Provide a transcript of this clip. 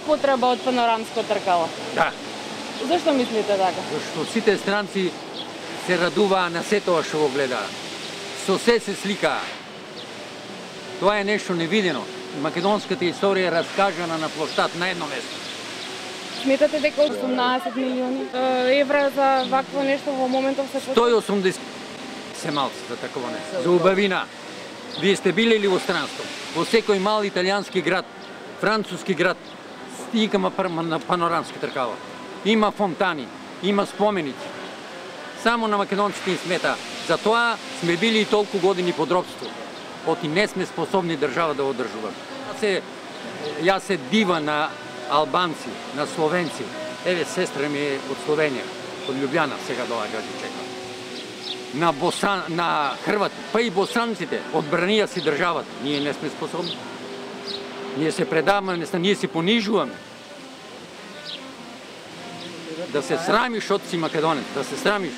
потреба од панорамско тркало? Да. Зашто мислите така? Зашто сите странци се радуваа на сето што го гледаа. Со се сликаа. Тоа е нешто невидено. Македонската историја е раскажана на плоштад на едно место. Сметате дека 18 милиони евра за вакво нешто во моментов се 180 се малци за такова нешто. За убавина. Вие сте били ли во странство? Во секој мал италијански град, француски град, стигаме на панорамски тркала. Има фонтани, има споменици. Само на македонците им смета. Затоа сме били и толку години под робство. Оти не сме способни држава да одржуваме. Јас се дива на албанци, на словенци. Еве, сестра ми е од Словенија, од Љубљана, сега доаѓа да чека. На Хрвати, па и босанците, одбранија си државата. Ние не сме способни. Ние се предаваме, ние се понижуваме. Да се срамиш од си македонец, да се срамиш.